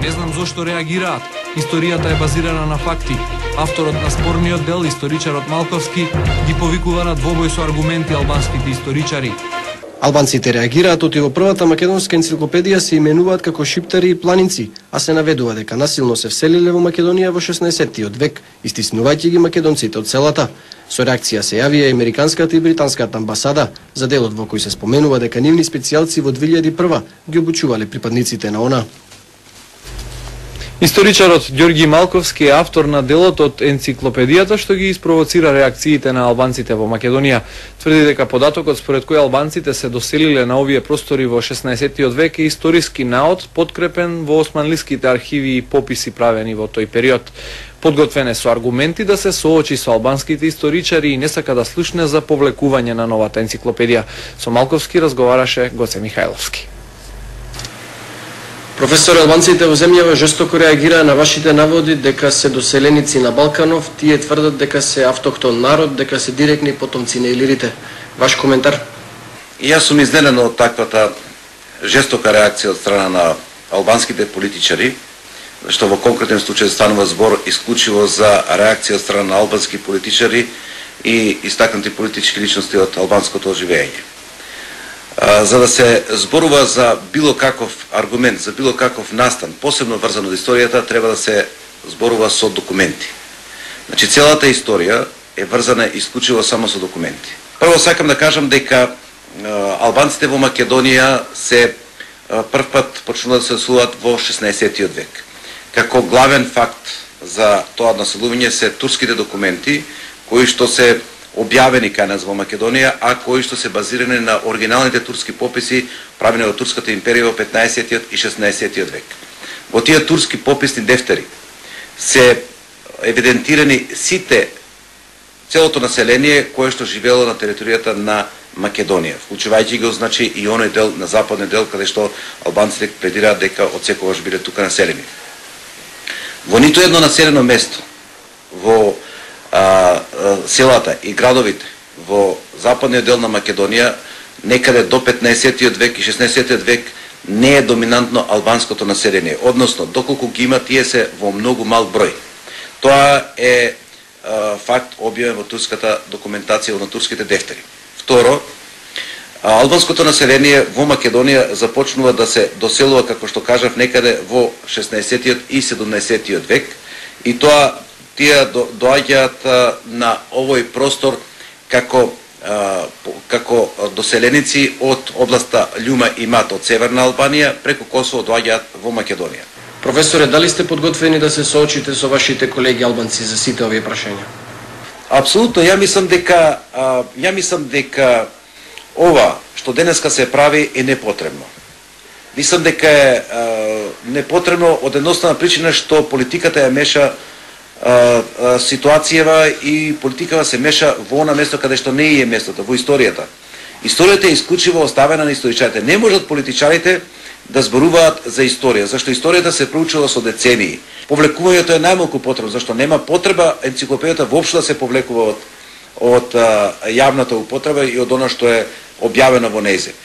Не знам зошто реагираат. Историјата е базирана на факти. Авторот на спорниот дел, историчарот Малковски, ги повикува на двобој со аргументи албанските историчари. Албанците реагираат оти во првата македонска енциклопедија се именуваат како шиптари и планинци, а се наведува дека насилно се вселиле во Македонија во 16-тиот век, истиснувајќи ги македонците од селата. Со реакција се јавија и американската и британската амбасада за делот во кој се споменува дека нивни специјалци во 2001 ги обучувале припадниците на ОНА. Историчарот Ѓорги Малковски е автор на делот од енциклопедијата што ги испровоцира реакциите на албанците во Македонија. Тврди дека податокот според кој албанците се доселиле на овие простори во 16-тиот век е историски наод, подкрепен во османлиските архиви и пописи правени во тој период. Подготвен е со аргументи да се соочи со албанските историчари и не сака да слушне за повлекување на новата енциклопедија. Со Малковски разговараше Гоце Михајловски. Професор, албанците во земјава жестоко реагираа на вашите наводи дека се доселеници на Балканов, тие тврдат дека се автохтон народ, дека се директни потомци на илирите. Ваш коментар? Јас сум изненаден од таквата жестока реакција од страна на албанските политичари, што во конкретен случај станува збор исклучиво за реакција од страна на албански политичари и истакнати политички личности од албанското оживење. За да се зборува за било каков аргумент, за било каков настан, посебно врзан од историјата, треба да се зборува со документи. Значи, целата историја е врзана исклучиво само со документи. Прво сакам да кажам дека албанците во Македонија се првпат почнува да се населуваат во 16-тиот век. Како главен факт за тоа населување се турските документи, кои што се објавени кај нас во Македонија, а кои што се базирани на оригиналните турски пописи правени во Турската империја во 15-тиот и 16-тиот век. Во тие турски пописни дефтери се евидентирани целото население кое што живеело на територијата на Македонија, вклучувајќи го значи и оној дел на западниот дел каде што албанците пледираат дека отсекогаш биле тука населени. Во ниту едно населено место во селата и градовите во западниот дел на Македонија, некаде до 15-тиот век и 16-тиот век не е доминантно албанското население, односно доколку ги има тие се во многу мал број. Тоа е факт објавен во турската документација на турските дефтери. Второ, албанското население во Македонија започнува да се доселува, како што кажав, некаде во 16-тиот и 17-тиот век, и тоа тие доаѓаат на овој простор како доселеници од областа Љума и Мат од Северна Албанија, преку Косово доаѓаат во Македонија. Професоре, дали сте подготвени да се соочите со вашите колеги албанци за сите овие прашања? Апсолутно, ја мислам дека ова што денеска се прави е непотребно. Мислам дека е непотребно од едноставна причина што политиката ја меша ситуацијава и политикава се меша во она место каде што не е местото, во историјата. Историјата е исклучиво оставена на историчарите. Не можат политичарите да зборуваат за историја, зашто историјата се проучува со децении. Повлекувањето е најмалку потребно, зашто нема потреба енциклопедијата воопшто да се повлекува од јавната употреба и од она што е објавено во нејзе.